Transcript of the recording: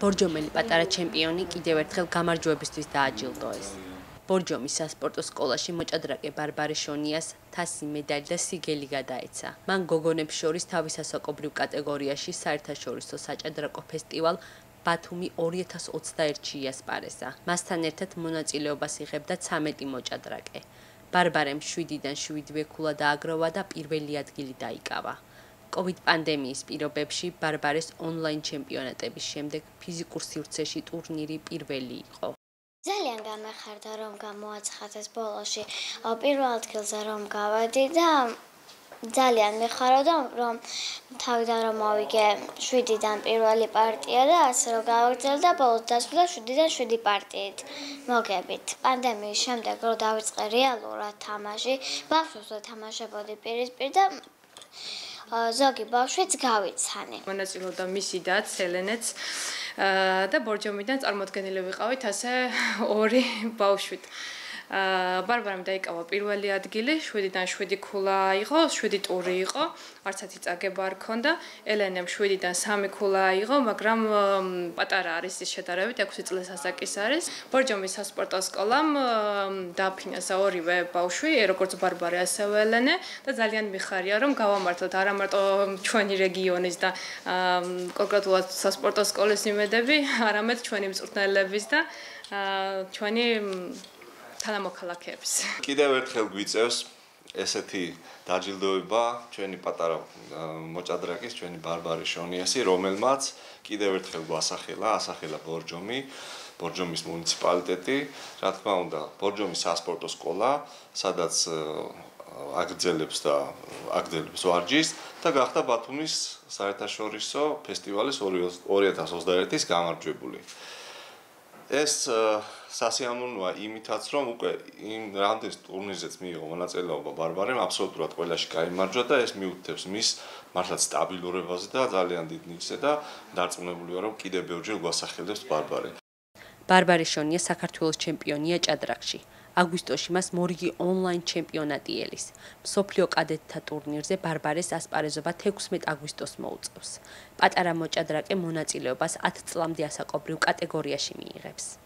ბორჯომელი პატარა ჩემპიონი კიდევ ერთხელ გამარჯვებისთვის დააჯილდოეს. ბორჯომის სასპორტო სკოლაში მოჭადრაკე ბარბარე შონიას თასი, медаლი და სიგელი გადაეცა. მან გოგონებს შორის თავისასაკობრივ კატეგორიაში საერთაშორისო საჭადრაკო ფესტივალ ბათუმი 2021-ში იასპარეზა. მასთან ერთად მონაწილეობას იღებდა 13 მოჭადრაკე. ბარბარემ 7-დან 7 ქულა დააგროვა და პირველი ადგილი დაიკავა. COVID პანდემიის პირობებში ბარბარეს ონლაინ ჩემპიონატების შემდეგ ფიზიკურ სივრცეში ტურნირი პირველი იყო. ძალიან გამეხარდა, რომ გამოაცხადეს ბოლოში პირველ ადგილზე რომ გავედი და ძალიან მეხარობდა, რომ თავიდან რომ მოვიგე 7-დან პირველი პარტია და ასე რომ გავაგრძელე და ბოლოს დასრულდა 7-დან 7 პარტიით. მოგებით. პანდემიის შემდეგ რომ დავიწყე რეალურად თამაში, ბავშვებს ვეთამაშებოდი პირისპირ და ზოგი ბავშვიც გავიცანი. მონაწილეობდა მისი და ცელენეც და ბორჯომიდან წარმოდგენილი ვიყავით ასე ორი ბავშვით. ბარბარამ დაიკავა პირველი ადგილი, 7-დან 7 ქულა იყო, 7 ტური იყო, არცათი წაგება არ ქონდა. ელენემ 7-დან 3 ქულა იყო, მაგრამ პატარა არის ის შედარებით 6 წლის ასაკის არის. ბორჯომის სასპორტო სკოლამ დააფინანსა ორივე ბავშვი, როგორც ბარბარე, ასევე ელენე და ძალიან მიხარია, რომ გავამართლოთ არა მარტო ჩვენი რეგიონის და კონკრეტულად სასპორტო სკოლის იმედები, არამედ ჩვენი მწვრთნელების და ჩვენი თანამოქალაქეებს. კიდევ ერთხელ გვიწევს ესეთი დაჯილდოება ჩვენი პატარა მოჭადრაკის, ჩვენი ბარბარე შონიასი, რომელმაც კიდევ ერთხელ ასახელა ბორჯომი, ბორჯომის მუნიციპალიტეტი, რა თქმა უნდა, ბორჯომის სასპორტო სკოლა, სადაც აგრძელებს ვარჯიშს და გახდა ბათუმის საერთაშორისო ფესტივალის 2021-ის გამარჯვებული. ეს სასიამოვნოა იმითაც, რომ უკვე იმ რამდენს ტურნირზეც მიიღო მონაწილეობა ბარბარემ, აბსოლუტურად ყველაში გაიმარჯვა და ეს მიუთითებს მის მართლაც სტაბილურობაზე და ძალიან დიდ ნიჭზე და დარწმუნებული ვარ, რომ კიდევ ბევრჯერ გვასახელებს ბარბარე. ბარბარე შონია საქართველოს ჩემპიონია ჭადრაკში. აგვისტოში მას მორიგი ონლაინ ჩემპიონატი ელის. მსოფლიო კადეტთა ტურნირზე ბარბარეს ასპარეზობა 16 აგვისტოს მოუწევს. პატარა მოჭადრაკე მონაწილეობას 10 წლამდე ასაკობრივ კატეგორიაში მიიღებს.